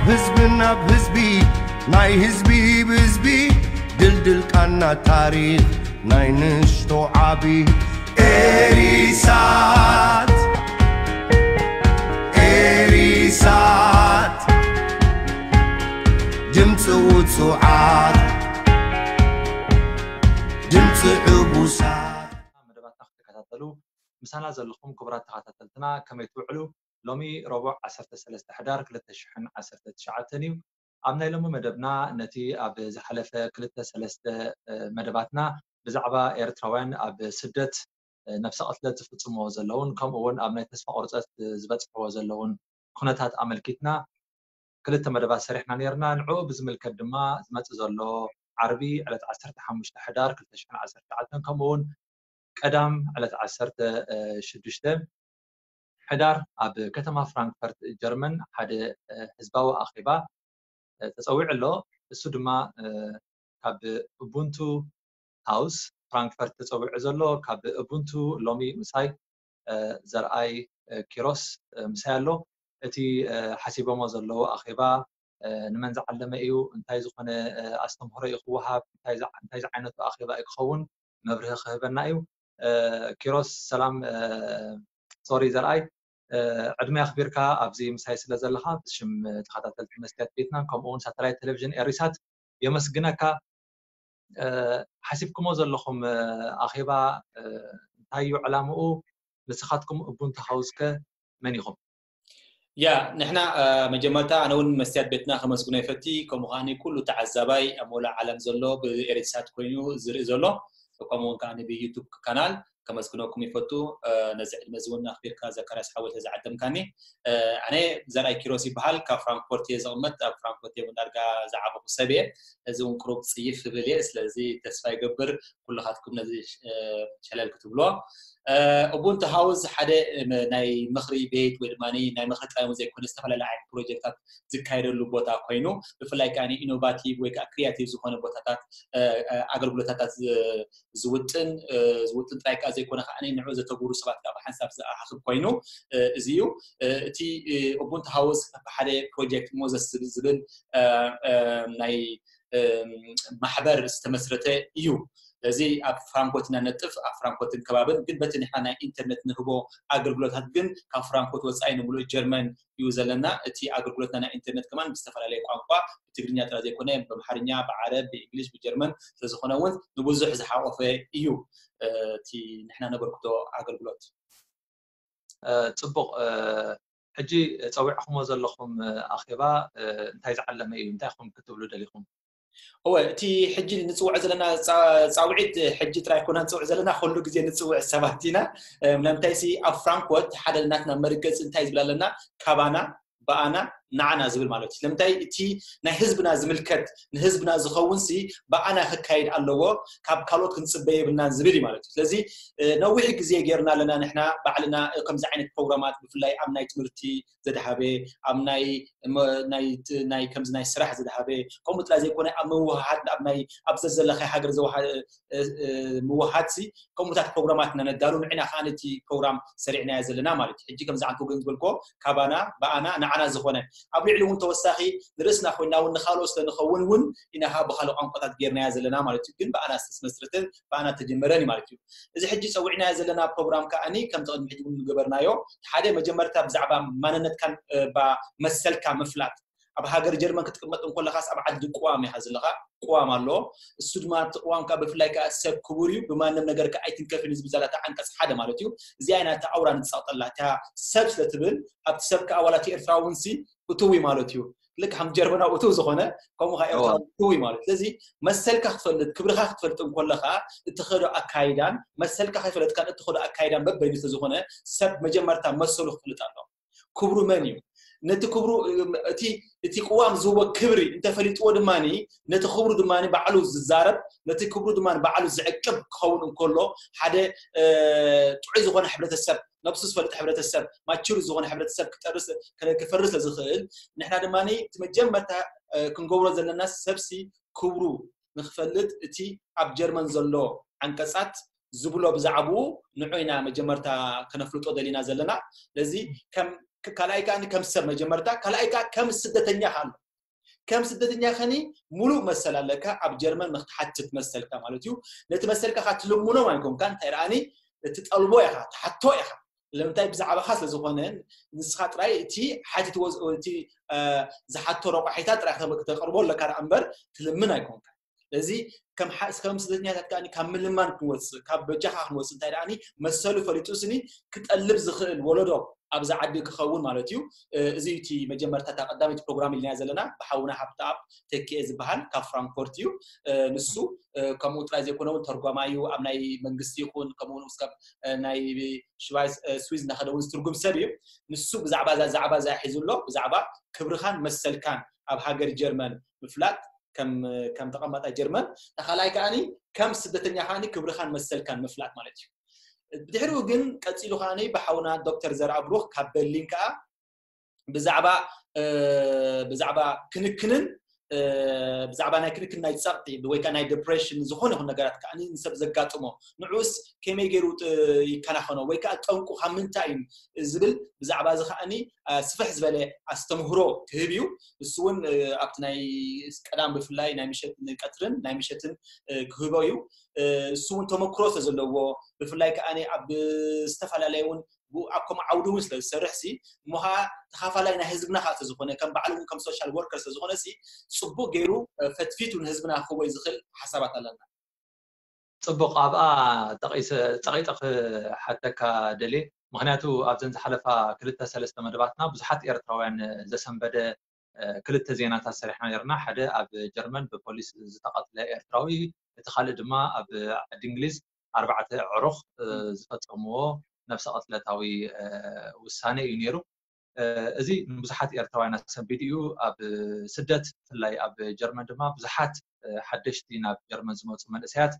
ህዝቢ ናብ ህዝቢ ናይ ህዝቢ ብህዝቢ ድልድል ቃና ታሪኽ ናይ ንእሽቶ ዓቢ ኤሪሳት ኤሪሳት ድምፂ ውፁዓት ድምፂ ዕቡሳት መደባትና ክትከታተሉ ምሳና ዘለኹም ክቡራት ተኸታተልትና ከመይ ትውዕሉ? ሎሚ ረቡዕ ዓሰርተ ሰለስተ ሕዳር ክልተ ሽሕን ዓሰርተ ትሽዓተን እዩ። ኣብ ናይ ሎሚ መደብና ነቲ ኣብ ዝሓለፈ ክልተ ሰለስተ መደባትና ብዛዕባ ኤርትራውያን ኣብ ስደት ነብሰ ቅትለት ዝፍጽምዎ ዘለውን ከምኡ እውን ኣብ ናይ ተስፋ ቁርፀት ዝበፅሕዎ ዘለውን ኩነታት ኣመልኪትና ክልተ መደባት ሰሪሕና ነርና። ንዕኡ ብዝምልከት ድማ ዝመፅእ ዘሎ ዓርቢ ዕለት ዓሰርተ ሓሙሽተ ሕዳር ክልተ ሽሕን ዓሰርተ ትሽዓተን ከምኡ እውን ቀዳም ዕለት ዓሰርተ ሽዱሽተ ሕዳር ኣብ ከተማ ፍራንክፈርት ጀርመን ሓደ ህዝባዊ ኣኼባ ተፀዊዑ ኣሎ። እሱ ድማ ካብ ኡቡንቱ ሃውስ ፍራንክፈርት ተፀዊዑ ዘሎ ካብ ኡቡንቱ ሎሚ ምሳይ ዘርኣይ ኪሮስ ምሳይ ኣሎ። እቲ ሓሲቦሞ ዘለዉ ኣኼባ ንመን ዝዓለመ እዩ፣ እንታይ ዝኾነ ኣስተምህሮ እዩ ክወሃብ፣ እንታይ ዝዓይነቱ ኣኼባ እዩ ክኸውን መብርሂ ክህበና እዩ። ኪሮስ ሰላም፣ ሶሪ ዘርኣይ፣ ዕድመ ኣኽቢርካ ኣብዚ ምሳይ ስለ ዘለኻ ብሽም ተኸታተልቲ መስትያት ቤትናን ከምኡ እውን ሳተላይት ቴሌቪዥን ኤሪሳት የመስግነካ። ሓሲብኩሞ ዘለኹም ኣኼባ እንታይ እዩ ዕላምኡ? ንስኻትኩም ኡቡንቱ ሃውስ ከ መን ኢኹም? ያ ንሕና መጀመርታ ኣነ እውን መስትያት ቤትና ከመስግኖ ይፈቲ፣ ከምኡ ከዓኒ ኩሉ ተዓዛባይ ኣብ መላእ ዓለም ዘሎ ብኤሪሳት ኮይኑ ዝርኢ ዘሎ፣ ከምኡ እውን ከዓኒ ብዩቱብ ካናል ከመስግነኩም ይፈቱ። ነዚ ዕድመ እዚ እውን ኣኽቢርካ ዘካርያስ ሓወልተ ዝዓደምካኒ። ኣነ ዘርኣይ ኪሮስ ይበሃል፣ ካብ ፍራንክፎርት እየ ዘቕመጥ፣ ኣብ ፍራንክፎርት እየ እውን ዳርጋ ዝዓበኹ ሰብ እየ። እዚ እውን ቅሩብ ፅይፍ ይብል እየ፣ ስለዚ ተስፋ ይገብር ኩልኻትኩም ነዚ ሸለል ክትብሎ። ኡቡንቱ ሃውስ ሓደ ናይ ምኽሪ ቤት ወይ ድማ ናይ ምኽሪ ጥራይ ዘይኮነ ዝተፈላለዩ ዓይነት ፕሮጀክታት ዝካየደሉ ቦታ ኮይኑ ብፍላይ ከዓ ኢኖቫቲቭ ወይ ከዓ ክሪያቲቭ ዝኾነ ቦታታት ኣገልግሎታታት ዝውጥን ዝውጥን ጥራይ ከዓ ዘይኮነ ከዓ ንዑ ዘተግብሩ ሰባት ከዓ ብሓንሳብ ዝኣኻኽብ ኮይኑ እዚ እዩ። እቲ ኡቡንቱ ሃውስ ሓደ ፕሮጀክት ሞዘስ ዝብል ናይ ማሕበር ዝተመስረተ እዩ። ስለዚ ኣብ ፍራንኮት ኢና ነጥፍ ኣብ ፍራንኮትን ከባብን ግን በቲ ንሕና ናይ ኢንተርነት ንህቦ ኣገልግሎታት ግን ካብ ፍራንኮት ወፃኢ ንምሉእ ጀርመን እዩ ዘለና። እቲ ኣገልግሎትና ናይ ኢንተርነት ከማን ብዝተፈላለየ ቋንቋ ብትግርኛ ጥራይ ዘይኮነ ብኣምሓርኛ፣ ብዓረብ፣ ብእንግሊሽ፣ ብጀርመን ስለዝኾነ እውን ንብዙሕ ዝሓቆፈ እዩ እቲ ንሕና ነበርክቶ ኣገልግሎት። ፅቡቕ ሕጂ ፀዊዕኹሞ ዘለኹም ኣኼባ እንታይ ዝዓለመ እዩ? እንታይ ኹም ክትብሉ ደሊኹም? እወ እቲ ሕጂ ንፅውዕ ዘለና ፃውዒት ሕጂ ጥራይ ኮና ንፅውዕ ዘለና ኩሉ ግዜ ንፅውዕ ሰባት ኢና። ምንምታይ ሲ ኣብ ፍራንኮት ሓደ ናትና መርገፂ እንታይ ዝብል ኣለና? ካባና ብኣና ንዓና ዝብል ማለት እዩ። ስለምንታይ እቲ ናይ ህዝብና ዝምልከት ንህዝብና ዝኸውን ሲ ብኣና ክካየድ ኣለዎ፣ ካብ ካልኦት ክንፅበ የብልናን ዝብል እዩ ማለት እዩ። ስለዚ ነዊሕ ግዜ ጌርና ኣለና ንሕና ባዕልና ከምዚ ዓይነት ፕሮግራማት ብፍላይ ኣብ ናይ ትምህርቲ ዘድሃበ ኣብ ናይ ናይ ከምዚ ናይ ስራሕ ዘድሃበ ከምኡ ጥራይ ዘይኮነ ኣብ ምውሃሃድ ኣብ ናይ ኣብ ዘዘለኻይ ሃገር ምውሃሃድ ሲ ከምኡታት ፕሮግራማት ነነዳሉ ንዕና ከዓ ነቲ ፕሮግራም ሰሪዕናዮ ዘለና ማለት እዩ። ሕጂ ከምዚ ዓንተ ግን ዝበልኮ ካባና ብኣና ንዓና ዝኾነ ኣብ ልዕሊ እውን ተወሳኺ ንርእስና ኮይና እውን ንካልኦ ስለንኸውን እውን ኢና ከዓ ብካልእ ቋንቋታት ጌርናዮ ዘለና ማለት እዩ። ግን ብኣና ዝተመስረተ ብኣና ተጀመረን ማለት እዩ። እዚ ሕጂ ፀዊዕናዮ ዘለና ፕሮግራም ከዓኒ ከምቲ ቅድሚ ሕጂ እውን ዝገበርናዮ ሓደ መጀመርታ ብዛዕባ ማንነትካን መሰልካ ምፍላጥ ኣብ ሃገር ጀርመን ክትቅመጥ እንኮለካስ ኣብ ዓዲ ቅዋም ኢኻ ዘለኻ። ቅዋም ኣሎ። እሱ ድማ እቲ ቅዋም ከዓ ብፍላይ ከዓ ሰብ ክቡር እዩ፣ ብማንም ነገር ከዓ ኣይትንከፍን እዩ ዝብል ዛላታ ዓንቀፅ ሓደ ማለት እዩ። እዚኣ ኢና እታ ኣውራ ንፃቕጠላ እታ ሰብ ስለትብል ኣብቲ ሰብ ከዓ ዋላ እቲ ኤርትራዊ እውን ሲ እትዊ ማለት እዩ። ልክ ከም ጀርመናዊ እትው ዝኾነ ከምኡ ከዓ ኤርትራዊ እትዊ ማለት ስለዚ መሰልካ ክትፈልጥ ክብርካ ክትፈልጥ እንኮለካ እትኸዶ ኣካይዳን መሰልካ ከይፈለጥካን እትኸዶ ኣካይዳን በበይኑ ስለዝኾነ ሰብ መጀመርታ መሰሉ ክፍልጥ ኣሎ። ክብሩ መን እዩ? ነቲ ክብሩ እቲ እቲ ቅዋም ዝህቦ ክብሪ እንተፈሊጥዎ ድማ ነቲ ክብሩ ድማ ባዕሉ ዝዛረብ ነቲ ክብሩ ድማ ባዕሉ ዝዕቅብ ክኸውን እንከሎ ሓደ ጥዑይ ዝኾነ ሕብረተሰብ ነብሱ ዝፈልጥ ሕብረተሰብ ማቹር ዝኾነ ሕብረተሰብ ክጠርስ ክፈርስ ስለዝኽእል ንሕና ድማ እቲ መጀመርታ ክንገብሮ ዘለና ሰብሲ ክብሩ ንክፈልጥ እቲ ኣብ ጀርመን ዘሎ ዓንቀፃት ዝብሎ ብዛዕብኡ ንዑ ኢና መጀመርታ ከነፍልጦ ደሊና ዘለና። ስለዚ ከም ካልኣይ ከዓ ከም ሰብ መጀመርታ፣ ካልኣይ ከዓ ከም ስደተኛ ኣሎ። ከም ስደተኛ ከኒ ሙሉእ መሰል ኣለካ ኣብ ጀርመን ንክትሓትት መሰልካ ማለት እዩ። ነቲ መሰልካ ትልምኖ ኣይኮንካ፣ እንታይ ረኣኒ፣ ትጠልቦ ኢኻ፣ ትሓቶ ኢኻ። ለምንታይ? ብዛዕባኻ ስለ ዝኾነ፣ ንስኻ ጥራይ እቲ ሓቲትዎ እቲ ዝሓቶ ረቋሒታት ጥራይ ክተቕርቦ ኣለካ ደኣ እምበር ትልምን ኣይኮንካ። ስለዚ ከም ስደተኛታት ከኣ ካብ ምልማን ክንወፅእ፣ ካብ በጃኻ ክንወፅእ፣ እንታይ ደኣ መሰሉ ፈሊጡ ስኒ ክጠልብ ዝኽእል ወለዶ ኣብዚ ዓዲ ክኸውን ማለት እዩ። እዚ እቲ መጀመርታ እታ ቀዳመይቲ ፕሮግራም ኢልና ዘለና ብሓውና ሃብተኣብ ተኪኤ ዝበሃል ካብ ፍራንክፎርት እዩ። ንሱ ከምኡ ጥራይ ዘይኮነ እውን ተርጓማይ እዩ። ኣብ ናይ መንግስቲ ይኹን ከምኡ እውን እስካብ ናይ ሽባይ ስዊዝ እናኸደ እውን ዝትርጉም ሰብ እዩ። ንሱ ብዛዕባ እዛ ዛዕባ እዛ ሒዙ ኣሎ። ብዛዕባ ክብርኻን መሰልካን ኣብ ሃገር ጀርመን ምፍላጥ ከም ከም ተቐማጣይ ጀርመን፣ ተኻላይ ከኣኒ ከም ስደተኛ ከኣኒ ክብርኻን መሰልካን ምፍላጥ ማለት እዩ። ብድሕሪኡ ግን ቀፂሉ ከኣኒ ብሓውና ዶክተር ዘርኣብሩኽ ካብ በርሊን ከኣ ብዛዕባ ብዛዕባ ክንክንን ብዛዕባ ናይ ክንክን ናይ ጸቕጢ ወይ ከዓ ናይ ዲፕሬሽን ዝኾነ ይኹን ነገራት ከዓ ንሰብ ዘጋጥሞ ንዑስ ከመይ ገይሩ ይከናኸኖ ወይ ከዓ ጠንቁ ካብ ምንታይ እዩ ዝብል ብዛዕባ እዚ ከዓኒ ስፍሕ ዝበለ ኣስተምህሮ ክህብ እዩ። እሱ እውን ኣብቲ ናይ ቀዳም ብፍላይ ናይ ምሸት ቀትርን ናይ ምሸትን ክህቦ እዩ። እሱ እውን ተመክሮ ስለዘለዎ ብፍላይ ከዓ ኣብ ዝተፈላለየ እውን ኣብ ከምኡ ዓውዲ እውን ስለ ዝሰርሕ ሲ እሞ ከዓ ተኻፋላይ ናይ ህዝብና ከዓ ስለዝኾነ ከም ባዕሉ እውን ከም ሶሻል ወርከር ስለዝኾነ ሲ ፅቡቅ ገይሩ ፈትፊቱ ንህዝብና ክህቦ ዝኽእል ሓሳባት ኣለና። ፅቡቅ ኣብኣ ጠቂጠ ክሓተካ ደልየ ምክንያቱ ኣብዘን ዝሓለፋ ክልተ ሰለስተ መደባትና ብዙሓት ኤርትራውያን ዘሰንበደ ክልተ ዜናታት ሰሪሕና ነርና ሓደ ኣብ ጀርመን ብፖሊስ ዝተቐትለ ኤርትራዊ እቲ ካልእ ድማ ኣብ ዓዲ እንግሊዝ ኣርባዕተ ዕሩኽ ዝፈፀምዎ ነብሰ ቅትለታዊ ውሳነ እዩ ነይሩ። እዚ ንብዙሓት ኤርትራውያን ኣሰንቢዱ እዩ። ኣብ ስደት ብፍላይ ኣብ ጀርመን ድማ ብዙሓት ሓደሽቲ ናብ ጀርመን ዝመፁ መንእሰያት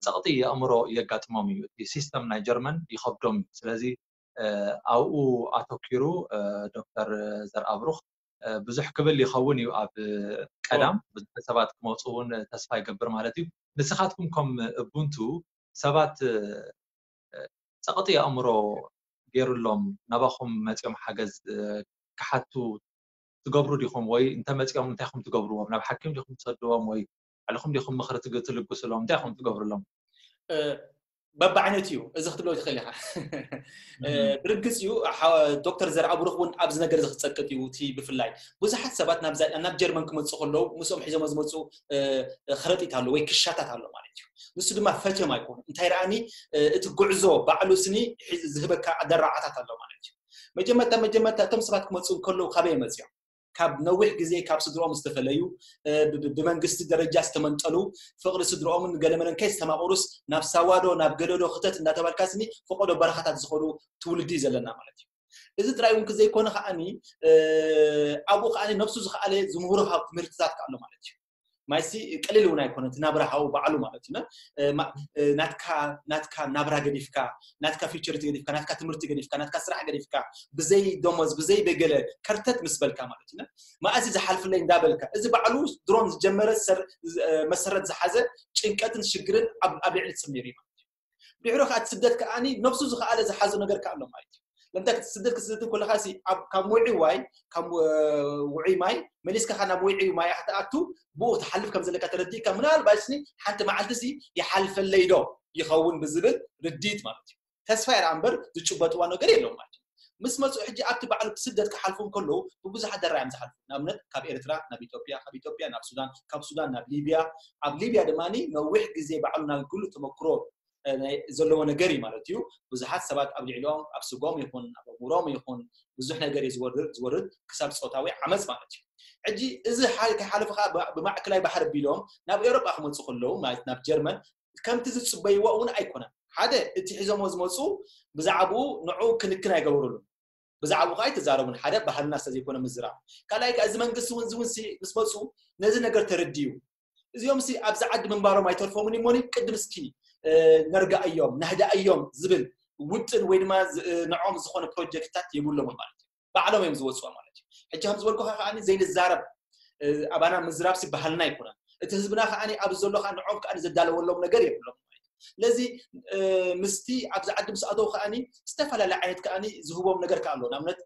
ፀቕጢ የእምሮ የጋጥሞም እዩ። እቲ ሲስተም ናይ ጀርመን ይኸብዶም እዩ። ስለዚ ኣብኡ ኣተኪሩ ዶክተር ዘርኣብሩኽ ብዙሕ ክብል ይኸውን እዩ ኣብ ቀዳም ብዙሕ ሰባት ክመፁ እውን ተስፋ ይገብር ማለት እዩ። ንስኻትኩም ከም እቡንቱ ሰባት ፀቕጢ ኣእምሮ ገይሩሎም ናባኹም መፂኦም ሓገዝ ክሓቱ ትገብሩ ዲኹም ወይ እንተመፂኦም እንታይ ኹም ትገብርዎም ናብ ሓኪም ዲኹም ትሰድዎም ወይ ባዕልኹም ዲኹም ምኽሪ ትልግስሎም እንታይ ኹም ትገብርሎም? በብዓይነቱ እዩ እዚ ክትብሎ ትኽእል ኢኻ። ብርግፅ እዩ። ዶክተር ዘርኣብሩኽ እውን ኣብዚ ነገር እዚ ክፀቅጥ እዩ። እቲ ብፍላይ ብዙሓት ሰባት ናብ ጀርመን ክመፁ ከለዉ ምስኦም ሒዞሞ ዝመፁ ከረጢት ኣሎ ወይ ክሻታት ኣሎ ማለት እዩ። ንሱ ድማ ፈትዮም ኣይኮኑ እንታይ ረኣኒ እቲ ጉዕዞ ባዕሉ ስኒ ዝህበካ ኣደራዓታት ኣሎ ማለት እዩ። መጀመርታ መጀመርታ እቶም ሰባት ክመፁ ከለዉ ካበይ መፅኦም ካብ ነዊሕ ግዜ ካብ ስድርኦም ዝተፈለዩ ብመንግስቲ ደረጃ ዝተመንጠሉ ፍቕሪ ስድርኦምን ገለመለን ከይስተማቕሩስ ናብ ሳዋዶ ናብ ገደዶ ክተት እንዳተባልካ ስኒ ፈቆዶ በረኻታት ዝኸዱ ትውልዲ እዩ ዘለና ማለት እዩ። እዚ ጥራይ እውን ክዘይኮነ ከዓኒ ኣብኡ ከዓኒ ነብሱ ዝኸኣለ ዝምህሮ ካብ ትምህርትታት ከኣሎ ማለት እዩ። ማይሲ ቀሊል እውን ኣይኮነ እቲ ናብራ ሃው ባዕሉ ማለት እዩ። ናትካ ናትካ ናብራ ገዲፍካ ናትካ ፊቸርቲ ገዲፍካ ናትካ ትምህርቲ ገዲፍካ ናትካ ስራሕ ገዲፍካ ብዘይ ደሞዝ ብዘይ በገለ ከርተት ምስ በልካ ማለት እዩ። መኣዚ ዝሓልፍለይ እንዳበልካ እዚ ባዕሉ ድሮን ዝጀመረ መሰረት ዝሓዘ ጭንቀትን ሽግርን ኣብ ልዕሊ ሰብ ነይሩ ማለት እዩ። ድሕሮ ከዓ ስደት ከዓኒ ነብሱ ዝኸኣለ ዝሓዞ ነገር ከኣሎ ማለት እዩ። ለምታ ስደት ክትስደት ከለካ ካብ ውዒ ዋይ ካብ ውዒ ማይ መሊስካ ካብ ናብ ውዒ ማይ ክትኣቱ ብኡ ትሓልፍ ከም ዘለካ ተረዲእካ ምናልባት ስኒ ሓንቲ መዓልቲ ሲ ይሓልፈለይ ዶ ይኸውን ብዝብል ርዲት ማለት እዩ። ተስፋ ይርኣ እምበር ዝጭበጥዋ ነገር የለውም ማለት እዩ። ምስ መፁ ሕጂ ኣብቲ ባዕሉ ስደት ክሓልፉ ከለዉ ብብዙሓት ደራ እዮም ዝሓልፉ። ንኣብነት ካብ ኤርትራ ናብ ኢትዮጵያ፣ ካብ ኢትዮጵያ ናብ ሱዳን፣ ካብ ሱዳን ናብ ሊብያ፣ ኣብ ሊብያ ድማ ነዊሕ ግዜ ባዕሉ ናይ ግሉ ተመክሮ ዘለዎ ነገር እዩ ማለት እዩ። ብዙሓት ሰባት ኣብ ልዕሊኦም ኣብ ስጎም ይኹን ኣብ ኣእምሮም ይኹን ብዙሕ ነገር እዩ ዝወርድ ዝወርድ ክሳብ ፆታዊ ዓመፅ ማለት እዩ። ሕጂ እዚ ከይሓለፈ ከዓ ብማእከላይ ባሕሪ ቢሎም ናብ ኤውሮጳ ክመፁ ከለዉ ማለት ናብ ጀርመን ከምቲ ዝፅበይዎ እውን ኣይኮነን። ሓደ እቲ ሒዞሞ ዝመፁ ብዛዕባኡ ንዑ ክንክን ኣይገበሩሉን። ብዛዕባኡ ከዓ ኣይተዛረቡን። ሓደ ባህልና ስለ ዘይኮነ ምዝራብ። ካልኣይ ከዓ እዚ መንግስቲ እውን ዝውንሲ ምስ መፁ ነዚ ነገር ተረድዩ እዚኦም ሲ ኣብዚ ዓዲ ምንባሮም ኣይተርፎምን እሞኒ ቅድም እስኪ ነርጋእዮም ናህዳእዮም ዝብል ውጥን ወይ ድማ ንዖም ዝኾነ ፕሮጀክትታት የብሎምን ማለት እዩ። ባዕሎም እዮም ዝወፅዎ ማለት እዩ። ሕጂ ከም ዝበልኩካ ከዓ ዘይንዛረብ ኣባና ምዝራብ ሲ ባህልና ኣይኮነን። እቲ ህዝብና ከዓ ኣብዚ ዘሎ ከዓ ንዖም ከዓ ዘዳለወሎም ነገር የብሎም ማለት እዩ። ስለዚ ምስቲ ኣብዚ ዓዲ ምስ ኣተው ከዓኒ ዝተፈላለየ ዓይነት ከዓኒ ዝህቦም ነገር ከ ኣሎ። ንኣብነት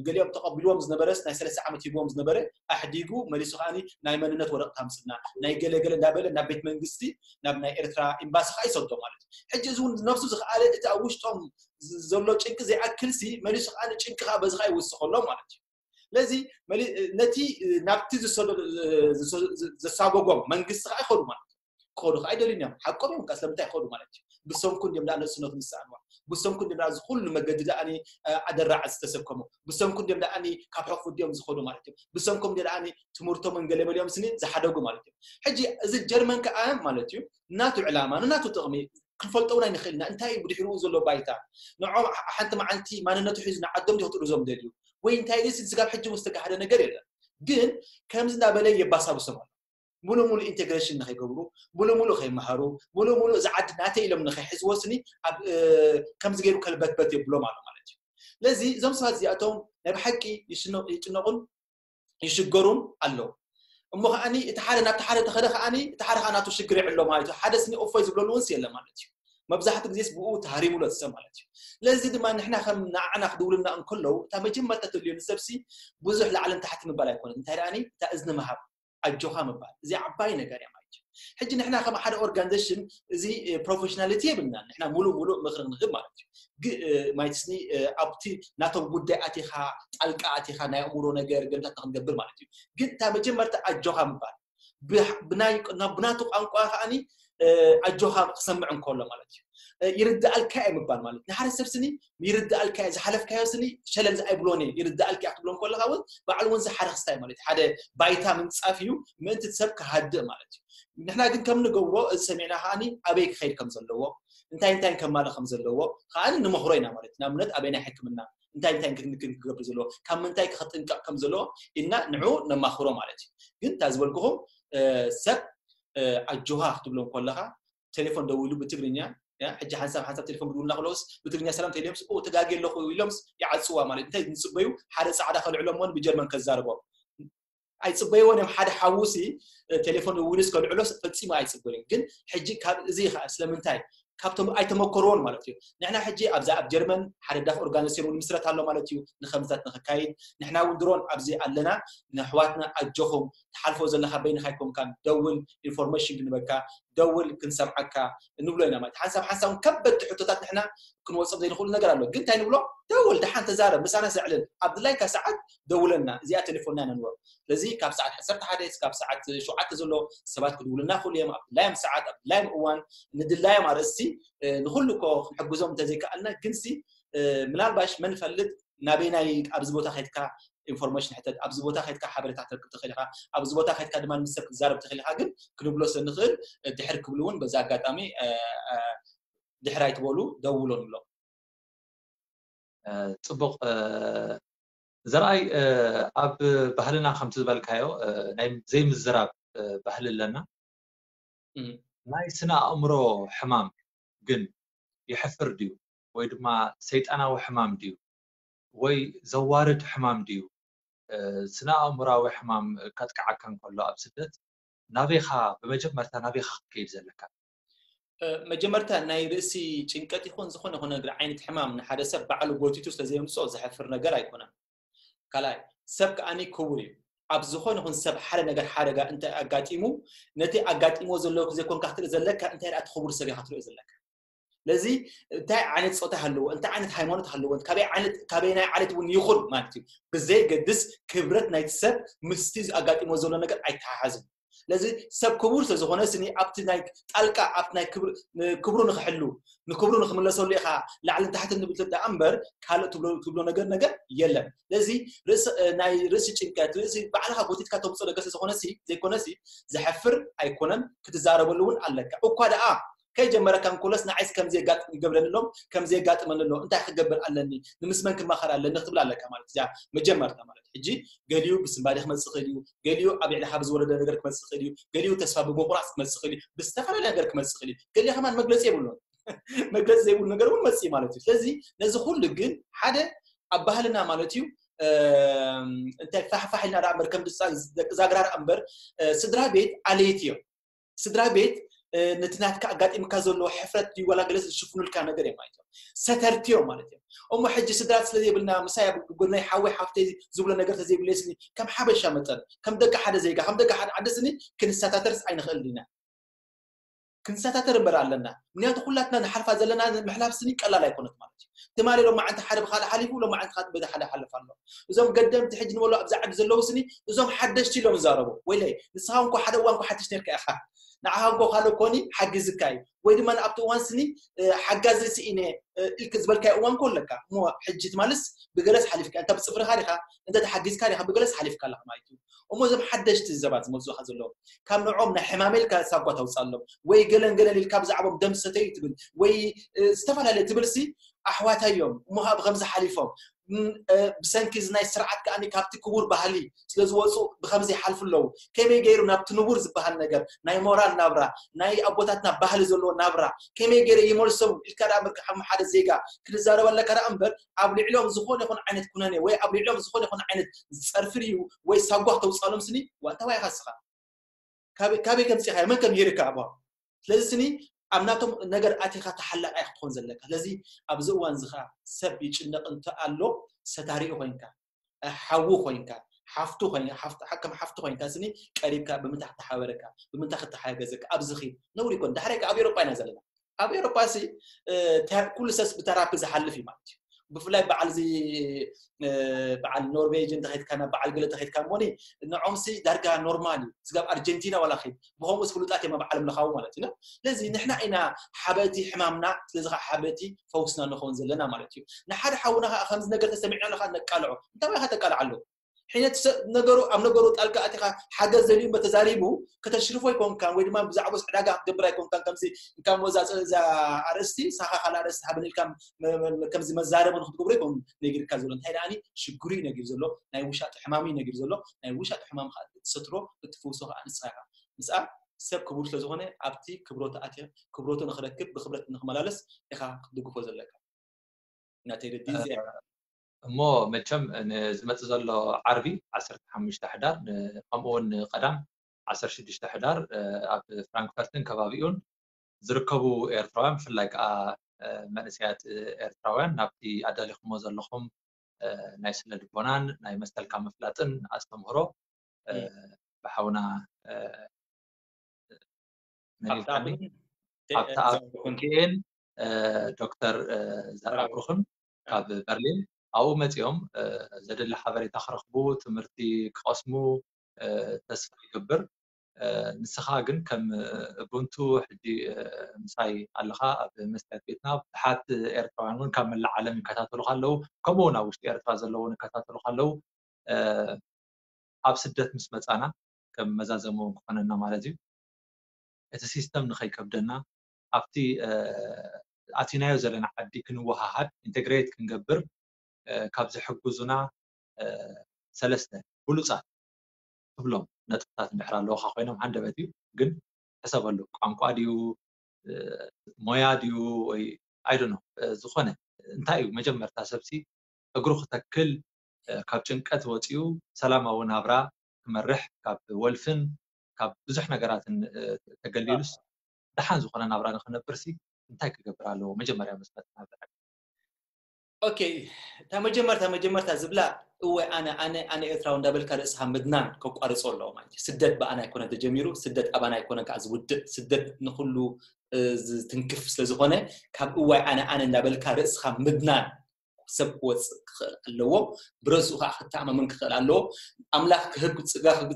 ገሊኦም ተቐቢልዎም ዝነበረስ ናይ ሰለስተ ዓመት ሂብዎም ዝነበረ ኣሕዲጉ መሊሱ ከዓኒ ናይ መንነት ወረቕት ኣምፅና ናይ ገለገለ እንዳበለ ናብ ቤት መንግስቲ ናብ ናይ ኤርትራ ኤምባሲ ከዓ ይሰዶ ማለት እዩ። ሕጂ እዚ እውን ነብሱ ዝኸኣለ እቲ ኣብ ውሽጦም ዘሎ ጭንቂ ዘይኣክልሲ መሊሱ ከዓ ጭንቂ ከዓ በዚ ከዓ ይውስኸሎም ማለት እዩ። ስለዚ ነቲ ናብቲ ዘሳጎጎም መንግስቲ ከዓ ይኸዱ ማለት እዩ። ክኸዱ ከዓ ኣይደልዩን እዮም። ሓቆም እዮም። ስለምንታይ ይኸዱ ማለት እዩ? ብሰንኩ እንዲም ደኣ ነእስነቱ ዝሰኣንዋ፣ ብሰንኩ እንዲም ደኣ ዝኩሉ መገዲ ደኣኒ ኣደራዕ ዝተሰከሙ፣ ብሰንኩ እንዲም ደኣኒ ካብ ሕቑፉ ድዮም ዝኸዱ ማለት እዩ። ብሰንኩም እንዲም ደኣኒ ትምህርቶም ገለ መሊኦም ስኒ ዝሓደጉ ማለት እዩ። ሕጂ እዚ ጀርመን ከዓ ማለት እዩ ናቱ ዕላማ ንናቱ ጥቕሚ ክንፈልጦ እውን ኣይንኽእልና። እንታይ እዩ ብድሕሪኡ ዘሎ ባይታ? ንዖም ሓንቲ መዓልቲ ማንነቱ ሒዙ ንዓዶም ዲኹ ጥርዞም ደልዩ ወይ እንታይ ደስ ስጋብ ሕጂ ዝተጋሃደ ነገር የለን። ግን ከምዚ እንዳበለ የባሳብሶም ኣሎ። ሙሉ ሙሉ ኢንቴግሬሽን ንኸይገብሩ፣ ሙሉ ሙሉ ከይመሃሩ፣ ሙሉ ሙሉ እዚ ዓዲ ናተይ ኢሎም ንኸይሕዝዎ ስኒ ከምዚ ገይሩ ከልበትበት የብሎም ኣሎ ማለት እዩ። ስለዚ እዞም ሰባት እዚኣቶም ናይ ብሓቂ ይጭነቑን ይሽገሩን ኣለዉ። እሞ ከዓኒ እቲ ሓደ ናብቲ ሓደ ተኸደ ከዓኒ እቲ ሓደ ከዓ ናቱ ሽግር ይዕሎ ማለት እዩ። ሓደ ስኒ እፎይ ዝብለሉ እውን የለ ማለት እዩ። መብዛሕትኡ ግዜስ ብኡ ተሃሪሙ ኣሎ ሰብ ማለት እዩ። ስለዚ ድማ ንሕና ከም ንዓና ክድውልና እንከለዉ እታ መጀመርታ ተድልዮ ንሰብሲ ብዙሕ ላዕልን ታሕቲ ምባል ኣይኮነን። እንታይ ደኣኒ እታ እዝኒ ምሃብ ኣጆኻ ምባል እዚ ዓባይ ነገር እያ ማለት እዩ። ሕጂ ንሕና ከም ሓደ ኦርጋኒዜሽን እዚ ፕሮፌሽናሊቲ የብልና። ንሕና ሙሉእ ሙሉእ ምኽሪ ክንህብ ማለት እዩ። ማይትስኒ ኣብቲ ናቶም ጉዳይ ኣቲኻ ጣልቃ ኣቲኻ ናይ ኣእምሮ ነገር ገምታት ንክንገብር ማለት እዩ። ግን እታ መጀመርታ ኣጆኻ ምባል ብናቱ ቋንቋ ከዓኒ ኣጆኻ ክሰምዕ እንከሎ ማለት እዩ። ይርዳኣልካ እየ ምባል ማለት ንሓደ ሰብ ስኒ ይርዳኣልካ እየ ዝሓለፍካዮ ስኒ ሸለል ኣይብሎን እየ ይርዳኣልካ እያ ክትብሎ እንከለካ እውን ባዕሉ እውን ዝሓረኽስታይ ማለት ሓደ ባይታ ምንፃፍ እዩ። ምእንቲ ሰብ ክሃድእ ማለት እዩ። ንሕና ግን ከም ንገብሮ እዚ ሰሚዕና ከዓኒ ኣበይ ክኸይድ ከም ዘለዎ እንታይ እንታይ ከማለ ከም ዘለዎ ከዓኒ ንመኽሮ ኢና ማለት ንኣብነት ኣበይ ናይ ሕክምና እንታይ እንታይ ክገብር ዘለዎ ካብ ምንታይ ክጥንቀቕ ከም ዘለዎ ኢልና ንዑ ነማኽሮ ማለት እዩ። ግን እታ ዝበልኩኹም ሰብ ኣጆኻ ክትብሎም ከለኻ ቴሌፎን ደዊሉ ብትግርኛ ሕጂ ሓንሳብ ሓንሳብ ቴሌፎን ክድውልና ከለውስ ብትግርኛ ሰላም ተይለምስ ተጋጌ ኣለኹ ኢሎምስ ይዓፅዋ ማለት እንታይ ንፅበዩ ሓደ ፃዕዳ ከልዕሎሞን ብጀርመን ከዛርቦም ኣይፅበይዎን እዮም። ሓደ ሓውሲ ቴሌፎን ውልስ ከልዕሎ ፈፂሙ ኣይፅበዩን። ግን ሕጂ ካብ እዚ ከዓ ስለምንታይ ካብቶም ኣይተመከርዎን ማለት እዩ። ንሕና ሕጂ ኣብዛ ኣብ ጀርመን ሓደ ዳፍ ኦርጋኒዜሽን እውን ምስረት ኣሎ ማለት እዩ። ንከምዝታት ንክካይድ ንሕና እውን ድሮን ኣብዚ ኣለና። ንኣሕዋትና ኣጆኹም ትሓልፎ ዘለካ በይንካ ኣይኮንካን ደውል ኢንፎርሜሽን ክንበካ ደውል ክንሰምዓካ ንብሎ ኢና ማለት ሓንሳብ ሓንሳብ ከበድቲ ሕቶታት ንሕና ክንወፅኦም ዘይንኽእሉ ነገር ኣሎ። ግን እንታይ ንብሎ ደውል ደሓን ተዛረብ ምሳና ሰዕልል ኣብ ድላይካ ሰዓት ደውለና እዚኣ ቴሌፎንና ነንወር ስለዚ ካብ ሰዓት ዓሰርተ ሓደ እስካብ ሰዓት ሸውዓተ ዘሎ ሰባት ክድውሉና ክእሉ እዮም ኣብ ድላዮም ሰዓት ኣብ ድላዮም እዋን ንድላዮም ኣርእስቲ ንኩሉ እኮ ክንሕግዞም እንተዘይከኣልና ግንሲ ምናልባሽ መን ፈልጥ ናበይናይ ኣብዚ ቦታ ከድካ ኢንፎርሜሽን ሕተት ኣብዚ ቦታ ከድካ ሓበሬታ ክትረክብ ትኽእል ኢኻ ኣብዚ ቦታ ከድካ ድማ ምስ ሰብ ክትዛረብ ትኽእል ኢኻ ግን ክንብሎ ስለ ንኽእል ድሕር ክብሉ እውን በዚ ኣጋጣሚ ድሕር ኣይትበሉ ደውሎ ንብሎም ፅቡቕ ዘርኣይ ኣብ ባህልና ከምቲ ዝበልካዮ ናይ ዘይምዝራብ ባህሊ ኣለና ናይ ስነ ኣእምሮ ሕማም ግን የሕፍር ድዩ ወይ ድማ ሰይጣናዊ ሕማም ድዩ ወይ ዘዋርድ ሕማም ድዩ ስነ ኣእምራዊ ሕማም ከጥቅዓካ እንከሎ ኣብ ስደት ናበይኻ ብመጀመርታ ናበይኻ ክትከይድ ዘለካ መጀመርታ ናይ ርእሲ ጭንቀት ይኹን ዝኾነ ይኹን ነገር ዓይነት ሕማም ንሓደ ሰብ ባዕሉ ጎቲቱ ስለዘየምፅኦ ዘሕፍር ነገር ኣይኮነን ካልኣይ ሰብ ከዓኒ ክቡር እዩ ኣብ ዝኾነ ይኹን ሰብ ሓደ ነገር ሓደጋ እንተ ኣጋጢሙ ነቲ ኣጋጢሞ ዘሎ ዘይኮንካ ክትርኢ ዘለካ እንታይ ደኣ ክቡር ሰብ ኢኻ ክትርኢ ዘለካ ስለዚ እንታይ ዓይነት ፆታ ሃለዎ እንታይ ዓይነት ሃይማኖት ሃለዎ ካበይ ዓይነት ካበይ ናይ ዓለት እውን ይኹን ማለት እዩ ብዘይገድስ ክብረት ናይቲ ሰብ ምስቲ ኣጋጢሞ ዘሎ ነገር ኣይተሓሓዝን ስለዚ ሰብ ክቡር ስለዝኾነ ስኒ ኣብቲ ናይ ጣልቃ ኣብቲ ናይ ክብሩ ንክሕሉ ንክብሩ ንክምለሰሉ ኢኻ ላዕልን ታሕትን ንብል ደኣ እምበር ካልእ ትብሎ ነገር ነገር የለን ስለዚ ናይ ርእሲ ጭንቀት ርእሲ ባዕልኻ ጎቲትካ ተምፅኦ ነገር ስለዝኾነ ዘይኮነሲ ዘሕፍር ኣይኮነን ክትዛረበሉ እውን ኣለካ እኳ ደኣ ከይጀመረካ እንኮለስ ንዓይስ ከም ዘየጋጥም ይገብረኒ ኣሎም ከም ዘየጋጥመኒ ኣሎ እንታይ ክገብር ኣለኒ ንምስመን ክማኸር ኣለኒ ክትብል ኣለካ ማለት እዚኣ መጀመርታ ማለት ሕጂ ገሊኡ ብስንባዴ ክመፅእ ክእል እዩ ገሊኡ ኣብ ልዕሊ ካብ ዝወረደ ነገር ክመፅእ ክእል እዩ ገሊኡ ተስፋ ብምቁራፅ ክመፅእ ክእል እዩ ብዝተፈላለየ ነገር ክመፅእ ክእል እዩ ገሊኡ ከማን መግለፂ የብሉን መግለፂ ዘይብሉ ነገር እውን መፅእ ማለት እዩ ስለዚ ነዚ ኩሉ ግን ሓደ ኣብ ባህልና ማለት እዩ እንታይ ፋሕፋሕ ኢልና ደኣ እምበር ከም ደቂ ዛግራ ደኣ እምበር ስድራ ቤት ኣለይቲ እዮም ስድራ ቤት ነቲ ናትካ ኣጋጢምካ ዘሎ ሕፍረት ድዩ ዋላ ገለስ ዝሽፍኑልካ ነገር እዮም ማለት እዮም። ሰተርቲ እዮም ማለት እዮም። እሞ ሕጂ ስድራት ስለ ዘይብልና ምሳይ ኣብ ጎናይ ሓወይ ሓፍተይ ዝብሎ ነገር ተዘይብለስኒ ከም ሓበሻ መጠን ከም ደቂ ሓደ ዜጋ ከም ደቂ ሓደ ዓዲ ስኒ ክንሰታተርስ ኣይንኽእል ኢና። ክንሰታተር እምበር ኣለና። ምክንያቱ ኩላትና ንሓልፋ ዘለና ምሕላፍ ስኒ ቀላል ኣይኮነት ማለት እዩ። ትማሊ ሎም መዓንቲ ሓደ ብካልእ ሓሊፉ ሎም መዓንቲ ካት በቲ ሓደ ሓልፍ ኣሎ። እዞም ገደምቲ ሕጂ ንበሎ ኣብዚ ዓዲ ዘለዉ ስኒ እዞም ሓደሽቲ ኢሎም ይዛረቡ። ወይለይ ንስኻ እንኮ ሓደ እዋን እኮ ሓድሽ ነርካ ኢኻ። ንዓኻ እንኮ ካልእ ኮኒ ሓጊዝካ እዩ። ወይ ድማ ኣብቲ እዋን ስኒ ሓጋዚ ስኢነ ኢልክ ዝበልካዮ እዋን ኮ ኣለካ። እሞ ሕጂ ትማልስ ብገለስ ሓሊፍካ እንተ ብፅፍርካ ዲኻ እንተ ተሓጊዝካ ዲኻ ብገለስ ሓሊፍካ ኣለካ ማለት እዩ። እሞ እዞም ሓደሽቲ ሰባት ዝመፁኻ ዘለዉ ካብ ንዕኦም ናይ ሕማመ ኢልካ ሳጓ ተውፅኣሎም ወይ ገለን ገለን ኢልካ ብዛዕቦም ደም ሰተዩ ትብል ወይ ዝተፈላለየ ትብል ሲ ኣሕዋታ እዮም እሞ ከዓ ብከምዚ ሓሊፎም ብሰንኪ እዚ ናይ ስርዓት ከዓኒ ካብቲ ክቡር ባህሊ ስለዝወፁ ብከምዚ ይሓልፉ ኣለዉ። ከመይ ገይሩ ናብቲ ንቡር ዝበሃል ነገር ናይ ሞራል ናብራ ናይ ኣቦታትና ባህሊ ዘለዎ ናብራ ከመይ ገይረ ይመልሶም ኢልካ ደኣ ምርካብ ሓደ ዜጋ ክንዛረበለካ ደኣ እምበር ኣብ ልዕሊኦም ዝኾነ ይኹን ዓይነት ኩነኔ ወይ ኣብ ልዕሊኦም ዝኾነ ይኹን ዓይነት ዝፀርፊ ድዩ ወይ ሳጓ ተውፃሎም ስኒ ዋእታዋይ ኢኻ ስኻ ካበይ ከምፂኻዮ መን ከምህርካ ኣባ ስለዚ ስኒ ኣብ ናቶም ነገር ኣቲኻ ተሓላቃይ ክትኾን ዘለካ ስለዚ ኣብዚ እዋን እዚ ከዓ ሰብ ይጭነቅ እንተ ኣሎ ሰታሪኡ ኮይንካ ሓዉ ኮይንካ ሓፍቱ ኮይንካ ከም ሓፍቱ ኮይንካ ስኒ ቀሪብካ ብምንታይ ክተሓበረካ ብምንታይ ክተሓገዘካ ኣብዚ ኺድ ነውሪ ይኮን ዳሕራይ ኣብ ኤሮጳ ኢና ዘለና ኣብ ኤሮጳ ሲ ኩሉ ሰስ ብተራፒ ዝሓልፍ እዩ ማለት እዩ ብፍላይ በዓል እዚ በዓል ኖርቬጅ እንተኸድካ ናብ በዓል ገለ ተኸድካ እሞኒ ንዖምሲ ዳርጋ ኖርማል እዩ ስጋብ ኣርጀንቲና ዋላ ኸይድ ብኸምኡስ ፍሉጣት እዮም ኣብ ዓለም ለኻዊ ማለት እዩ ስለዚ ንሕና ኢና ሓበቲ ሕማምና ስለዚ ከዓ ሓበቲ ፈውስና ንኸውን ዘለና ማለት እዩ ንሓደ ሓውና ከዓ ከምዚ ነገር ተሰሚዕና ኣለካ ነቃልዖ እንታይ ባይካ ተቃልዓሉ ሕነት ነገሩ ኣብ ነገሩ ጣልቃ ኣቲኻ ሓገዝ ዘልዩ እሞ ተዛሪቡ ከተሽርፎ ኣይኮንካን ወይ ድማ ብዛዕባ ዕዳጋ ክትገብር ኣይኮንካን ከምዚ እንካ ሞ እዛ ኣርእስቲ ሳኻ ካልእ ኣርእስቲ ሃበን ኢልካ ከምዚ መዛረቢ ንክትገብሮ ይኮን ነጊርካ ዘሎ እንታይ ደኣኒ ሽግሩ እዩ ነጊር ዘሎ ናይ ውሻጢ ሕማም እዩ ነጊር ዘሎ ናይ ውሻጢ ሕማም ከዓ እትሰትሮ እትፍውሶ ከዓ ንስኻ ኢኻ ምስኣ ሰብ ክቡር ስለዝኾነ ኣብቲ ክብሮቱ ኣትየ ክብሮቱ ንክረክብ ብክብረት ንክመላለስ ኢኻ ክትድግፎ ዘለካ ናተይ ርዲ እዚኣ እሞ መቸም ንዝመፅእ ዘሎ ዓርቢ ዓሰርተ ሓሙሽተ ሕዳር ከምኡውን ንቀዳም ዓሰርተ ሽዱሽተ ሕዳር ኣብ ፍራንክፈርትን ከባቢኡን ዝርከቡ ኤርትራውያን ብፍላይ ከዓ መንእሰያት ኤርትራውያን ናብቲ ኣዳሊኹሞ ዘለኹም ናይ ስነ ልቦናን ናይ መሰልካ ምፍላጥን ኣስተምህሮ ብሓውና መን ኢልካኒ ሃብተኣብ ኪኤን ዶክተር ዘርኣ ብሩኽን ካብ በርሊን ኣብኡ መፂኦም ዘድሊ ሓበሬታ ክረኽቡ ትምህርቲ ክቐስሙ ተስፋ ይገብር። ንስኻ ግን ከም ቡንቱ ሕጂ ምሳይ ኣለኻ ኣብ መስትያት ቤትና ብዙሓት ኤርትራውያን እውን ካብ መላእ ዓለም ይከታተሉካ ኣለዉ ከምኡ እውን ኣብ ውሽጢ ኤርትራ ዘለዉ ይከታተሉካ ኣለዉ ኣብ ስደት ምስ መፃና ከም መዛዘሚ እውን ክኾነና ማለት እዩ እቲ ሲስተም ንኸይከብደና ኣብቲ ኣቲናዮ ዘለና ዓዲ ክንወሃሃድ ኢንተግሬት ክንገብር ካብ ዝሕግዙና ሰለስተ ብሉፃት ትብሎም ነጥብታት እንድሕር ኣለውካ ኮይኖም ሃንደበት እዩ ግን ሕሰበሉ ቋንቋ ድዩ ሞያ ድዩ ወይ ኣይዶ ዝኾነ እንታይ እዩ መጀመርታ ሰብሲ እግሩ ክተክል ካብ ጭንቀት ወፂኡ ሰላማዊ ናብራ ክመርሕ ካብ ወልፍን ካብ ብዙሕ ነገራትን ተገሊሉስ ደሓን ዝኾነ ናብራ ንክነብር ሲ እንታይ ክገብር ኣለዎ መጀመርያ መስመት ናብ ኦኬ እታ መጀመርታ መጀመርታ ዝብላ እወ ኣነ ኣነ ኣነ ኤርትራዊ እንዳበልካ ርእስኻ ምድናን ከቋርጾ ኣለዎ ማለት እዩ ስደት ብኣና ኣይኮነ ተጀሚሩ ስደት ኣባና ኣይኮነ ከዓ ዝውድእ ስደት ንኩሉ ዝትንክፍ ስለዝኾነ ካብ እዋይ ኣነ ኣነ እንዳበልካ ርእስኻ ምድናን ሰብ ክወፅእ ክኽእል ኣለዎ ብረስኡ ከዓ ክተኣማመን ክኽእል ኣለዎ ኣምላኽ ክህብ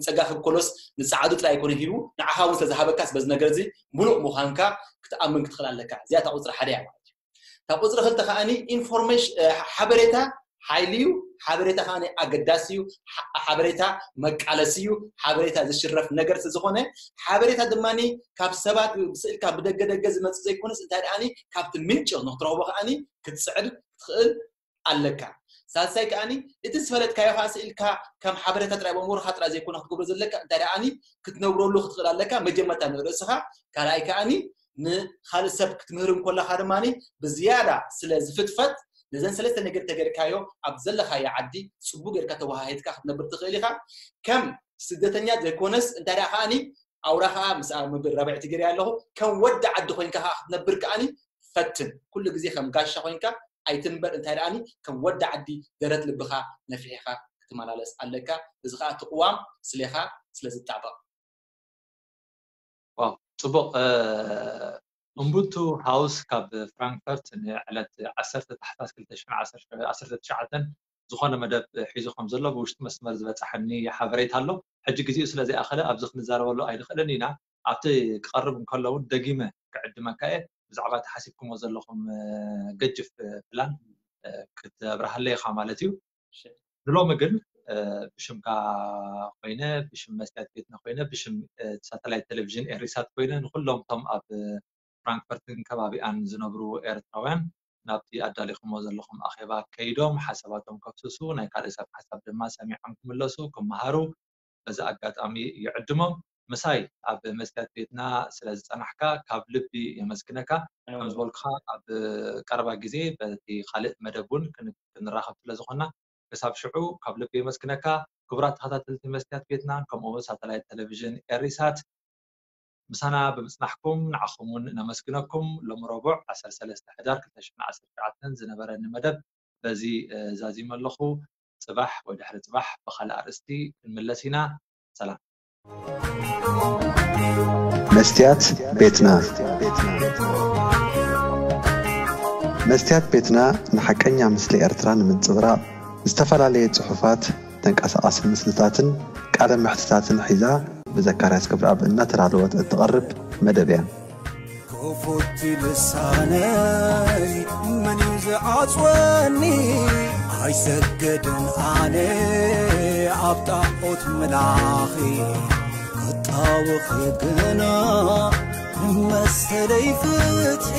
ፀጋ ክብ ኮሎስ ንፀዓዱ ጥራይ ኣይኮነ ሂቡ ንዓኻ እውን ስለዝሃበካስ በዚ ነገር እዚ ሙሉእ ምዃንካ ክትኣምን ክትኽእል ኣለካ እዚኣ እታ ቁፅሪ ሓደ እያ ማለት እዩ እታ ቁፅሪ ክልተ ከዓኒ ኢንፎርሜሽን ሓበሬታ ሓይሊ እዩ ሓበሬታ ከዓ ኣገዳሲ እዩ ሓበሬታ መቃለሲ እዩ ሓበሬታ ዝሽረፍ ነገር ስለዝኾነ ሓበሬታ ድማ ካብ ሰባት ስእልካ ብደገ ደገ ዝመፅእ ዘይኮነስ እንታይ ደኣ ካብቲ ምንጭ ንክትረኽቦ ከዓ ክትፅዕር ክትኽእል ኣለካ ሳልሳይ ከዓኒ እቲ ዝፈለጥካዮ ከዓ ስእልካ ከም ሓበሬታ ጥራይ በምሁርካ ጥራይ ዘይኮነ ክትገብሮ ዘለካ እንታይ ደኣ ክትነብረሉ ክትኽእል ኣለካ መጀመርታ ንርእስኻ ካልኣይ ከዓኒ ንኻልእ ሰብ ክትምህር እንኮለኻ ድማ ብዝያዳ ስለ ዝፍትፈት ነዘን ሰለስተ ነገር ተገርካዮ ኣብ ዘለኻዮ ዓዲ ፅቡቅ ጌርካ ተወሃሂድካ ክትነብር ትኽእል ኢኻ ከም ስደተኛ ዘይኮነስ እንታይ ደኣ ከዓኒ ኣውራ ከዓ ምስ ኣብ ምብል ረብዕቲ ገይረ ኣለኹ። ከም ወዲ ዓዲ ኮይንካ ከዓ ክትነብር ከዓኒ ፈትን። ኩሉ ግዜ ከም ጋሻ ኮይንካ ኣይትንበር። እንታይ ደኣኒ ከም ወዲ ዓዲ ደረት ልብኻ ነፊሕኻ ክትመላለስ ኣለካ። እዚ ከዓ እቲ ቅዋም ስሌኻ ስለ ዝጣበቕ። ዋው፣ ጽቡቕ። ኡምቡንቱ ሃውስ ካብ ፍራንክፈርት ንዕለት ዓሰርተ ታሕሳስ ክልተ ሽሕን ዓሰርተ ትሽዓተን ዝኾነ መደብ ሒዙ ከም ዘሎ ብውሽጢ መስመር ዝበጻሐኒ ሓበሬታ ኣሎ። ሕጂ ግዜኡ ስለ ዘይኣኸለ ኣብዚ ክንዛረበሉ ኣይንኽእልን ኢና። ኣብቲ ክቐርብ እንከሎ እውን ደጊመ ክዕድመካ እየ። ብዛዕባ ተሓሲብኩሞ ዘለኹም ገጅፍ ፕላን ክተብርሃለይ ኢኻ ማለት እዩ። ንሎሚ ግን ብሽምካ ኮይነ፣ ብሽም መስትያት ቤትና ኮይነ፣ ብሽም ሳተላይት ቴሌቪዥን ኤሪሳት ኮይነ ንኩሎም እቶም ኣብ ፍራንክፈርትን ከባቢኣን ዝነብሩ ኤርትራውያን ናብቲ ኣዳሊኹሞ ዘለኹም ኣኼባ ከይዶም ሓሳባቶም ከፍስሱ፣ ናይ ካልእ ሰብ ሓሳብ ድማ ሰሚዖም ክምለሱ፣ ክመሃሩ በዚ ኣጋጣሚ ይዕድሞም። ምሳይ ኣብ መስትያት ቤትና ስለ ዝጸናሕካ ካብ ልቢ የመስግነካ። ከም ዝበልኩኻ ኣብ ቀረባ ግዜ በቲ ካልእ መደብ እውን ክን- ክንራኸብ ስለ ዝኾንና ክሳብ ሽዑ ካብ ልቢ የመስግነካ። ክቡራት ተኸታተልቲ መስትያት ቤትና ከምኡ እውን ሳተላይት ቴሌቪዥን ኤሪሳት ምሳና ብምጽናሕኩም ንዓኹም እውን ነመስግነኩም። ሎሚ ረቡዕ ዓሰርተ ሰለስተ ሕዳር ክልተ ሽሕን ዓሰርተ ትሽዓተን ዝነበረኒ መደብ በዚ ዛዚመ ኣለኹ። ጽባሕ ወይ ድሕሪ ጽባሕ ብኻልእ ኣርእስቲ ክንምለስ ኢና። ሰላም። መስትያት ቤትና። መስትያት ቤትና ንሓቀኛ ምስሊ ኤርትራ ንምንጽብራቕ ዝተፈላለየ ጽሑፋት፣ ተንቀሳቓሲ ምስልታትን ቃለ መሕትታትን ሒዛ ብዘካርያስ ገብረኣብ እናተዳለወት እትቐርብ መደብ እያ። ክፉት ልሳነይ መን እዩ ዝዓጽወኒ? ኣይሰግድን ኣነ ኣብ ጣዖት ምላኺ፣ ክጣወኺ ግና መሰለይ ፍትሒ።